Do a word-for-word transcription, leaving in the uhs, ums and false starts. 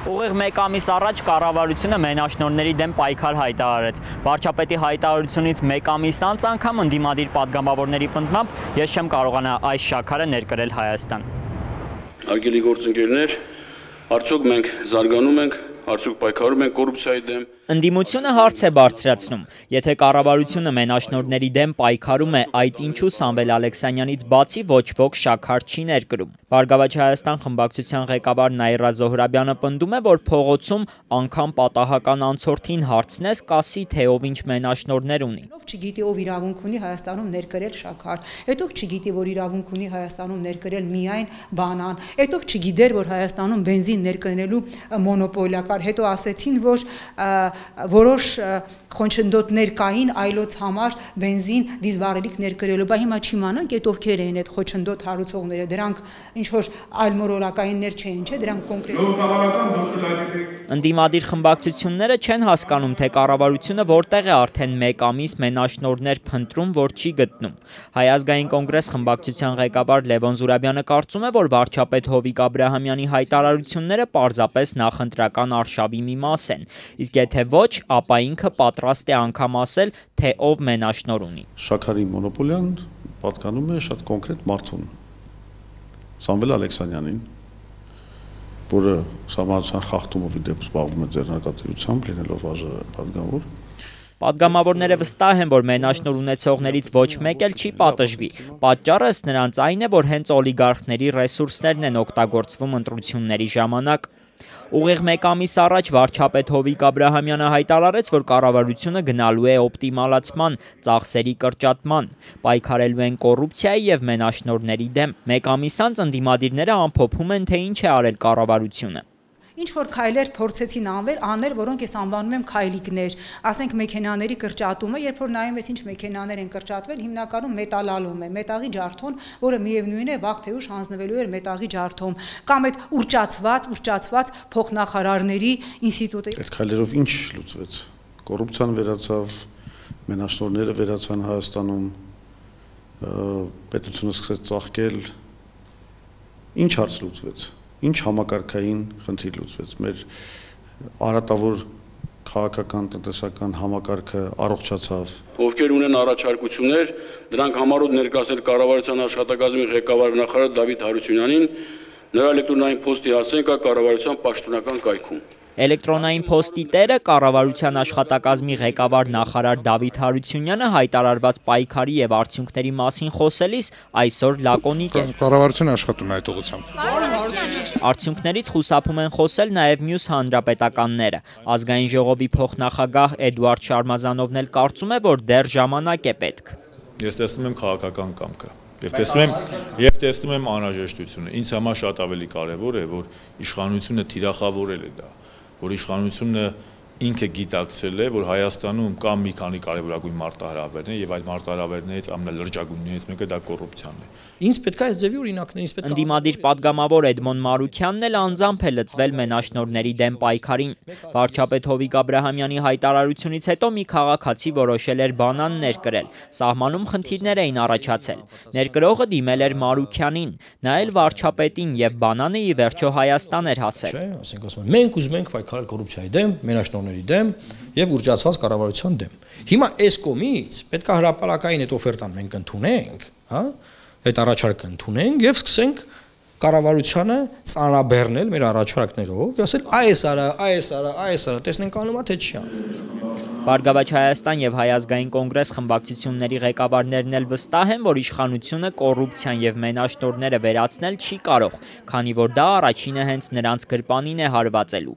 Ուղիղ մեկ ամիս առաջ կառավարությունը մենաշնորհների դեմ պայքար հայտարարեց։ Վարչապետի հայտարարությունից մեկ ամիս անց անգամ ընդդիմադիր պատգամավորների պնդմամբ ես չեմ կարողանա այս շաքարը ներկրել Հայաստան։ Արգելի գործընկերներ, արդյոք մենք զարգանում ենք, արդյոք պայքարում ենք կոռուպցիայի դեմ։ Ընդդիմությունը հարց է բարձրացնում, եթե կառավարությունը մենաշնորհների դեմ պայքարում է, այդ ինչու Սամվել Ալեքսանյանից բացի ոչ ոք շաքար չի ներկրում։ Բարգավաճ Հայաստան խմբակցության ղեկավար Նաիրա Զոհրաբյանը պնդում է, որ փողոցում անգամ պատահական անցորդին հարցնես, կասի, թե ով ինչ մենաշնորհներ ունի։ Ով չգիտի, ով իրավունք ունի Հայաստանում ներկրել շաքար, այդ ով չգիտի, որ իրավունք ունի Հայաստանում ներկրել միայն բանան, այդ ով չգիտեր, որ Հայաստանում բենզին ներկրելու մոնոպոլիա կար, հետո ասեցին, որ որոշ խոչընդոտներ կային այլոց համար բենզին դիզվառելիք ներկրելու, բայց հիմա չիմանանք այդ ովքեր էին այդ խոչընդոտ հարուցողները, դրանք ինչ որ այլ մոլորակայիններ չէին, չէ, դրանք կոնկրետ։ Ընդդիմադիր խմբակցությունները չեն հասկանում, թե կառավարությունը որտեղ է արդեն մեկ ամիս մենաշնորհներ փնտրում, որ չի գտնում։ Հայ ազգային կոնգրես խմբակցության ղեկավար Լևոն Զուրաբյանը կարծում է, որ վարչապետ Հովիկ Աբրահամյանի հայտարարությունները պարզապես նախընտրական արշավի մի մաս են, իսկ եթե ոչ, ապա ինքը պատրաստ է անգամ ասել, թե ով մենաշնորհ ունի։ Շաքարի մոնոպոլիան պատկանում է շատ կոնկրետ մարդուն, Սամվել Ալեքսանյանին, որը սահմանության խախտումով ի դեպ զբաղվում է ձեռնարկատիրությամբ, լինելով պատգամավոր։ Պատգամավորները վստահ են, որ մենաշնորհ ունեցողներից ոչ մեկ էլ չի պատժվի։ Պատճառը ըստ նրանց այն է, որ հենց օլիգարխների ռեսուրսներն են օգտագործվում ընտրությունների ժամանակ։ Ուղիղ մեկ ամիս առաջ վարչապետ Հովիկ Աբրահամյանը հայտարարեց, որ կառավարությունը գնալու է օպտիմալացման, ծախսերի կրճատման, պայքարելու են կոռուպցիայի եւ մենաշնորհների դեմ։ Մեկ ամիս անց ընդդիմադիրները ամփոփում են, թե ինչ է արել կառավարությունը։ Ինչ որ քայլեր փորձեցին անվել, անել, որոնք ես անվանում եմ քայլիկներ, ասենք մեքենաների կրճատումը, երբ որ նայում ես ինչ մեքենաներ են կրճատվել, հիմնականում մետալալում է, մետաղի ջարդոն, որը միևնույն է վաղ թե ուշ հանձնվելու էր մետաղի ջարդում, կամ այդ ուռճացված, ուռճացված փոխնախարարների ինստիտուտը։ Այդ քայլերով ինչ լուծվեց։ Կոռուպցիան վերացավ, մենաշնորհները վերացան Հայաստանում, պետությունը սկսեց ծաղկել։ Ինչ հարց լուծվեց։ Ինչ համակարգային խնդիր լուծվեց, մեր արատավոր քաղաքական տնտեսական համակարգը առողջացավ։ Ովքեր ունեն առաջարկություններ, դրանք համառոտ ներկայացնել կառավարության աշխատակազմի ղեկավար նախարար Դավիթ Հարությունյանին, նրա էլեկտրոնային փոստի հասցեն կա կառավարության պաշտոնական կայքում։ Էլեկտրոնային փոստի տերը կառավարության աշխատակազմի ղեկավար նախարար Դավիթ Հարությունյանը հայտարարված պայքարի եւ արդյունքների մասին խոսելիս այսօր լակոնիկ է։ Կառավարությունը աշխատում է այդ ուղղությամբ։ Արդյունքներից խուսափում են խոսել նաեւ մյուս հանրապետականները։ Ազգային ժողովի փոխնախագահ Էդուարդ Շարմազանովն էլ կարծում է, որ դեռ ժամանակ է պետք։ Ես տեսնում եմ քաղաքական կամքը։ Եվ տեսնում եմ, եւ տեսնում եմ անհրաժեշտությունը։ Ինձ համար շատ ավելի կարեւոր է, որ իշխանությունը թիրախավորել է դա, որ իշխանությունը ինքը գիտակցել է, որ Հայաստանում կա մի քանի կարևորագույն մարտահրավերներ եւ այդ մարտահրավերներից ամենալրջագույններից մեկը դա կոռուպցիան է։ Ինձ պետք է այս ձևի օրինակներ, ինձ պետք է Ընդդիմադիր պատգամավոր Էդմոն Մարուքյանն էլ անձամբ է լծվել մենաշնորհների դեմ պայքարին։ Վարչապետ Հովիկ Աբրահամյանի հայտարարությունից հետո մի քաղաքացի որոշել էր բանան ներկրել։ Սահմանում խնդիրներ էին առաջացել։ Ներկրողը դիմել էր Մարուքյանին, նա էլ վարչապետին եւ բանանը ի վերջո Հայաստան էր հասել։ Ասենք ասում են, մենք ուզում ենք պայքարել կոռուպցիայի դեմ, մենաշնորհների դեմ եւ ուռճացված կառավարության դեմ։ Հիմա այս կողմից պետք է հրապարակային այդ օֆերտան մենք ընդունենք, հա, այդ առաջարկը ընդունենք եւ սկսենք կառավարությանը ծանրաբեռնել մեր առաջարկներով, ասել այս արա, այս արա, այս արա, տեսնենք անում է թե չի անում։ Բարգավաճ Հայաստան եւ Հայ ազգային կոնգրես խմբակցությունների ղեկավարներն էլ վստահ են, որ իշխանությունը կոռուպցիան եւ մենաշնորհները վերացնել չի կարող, քանի որ դա առաջինը հենց նրանց գրպանին է հարվածելու։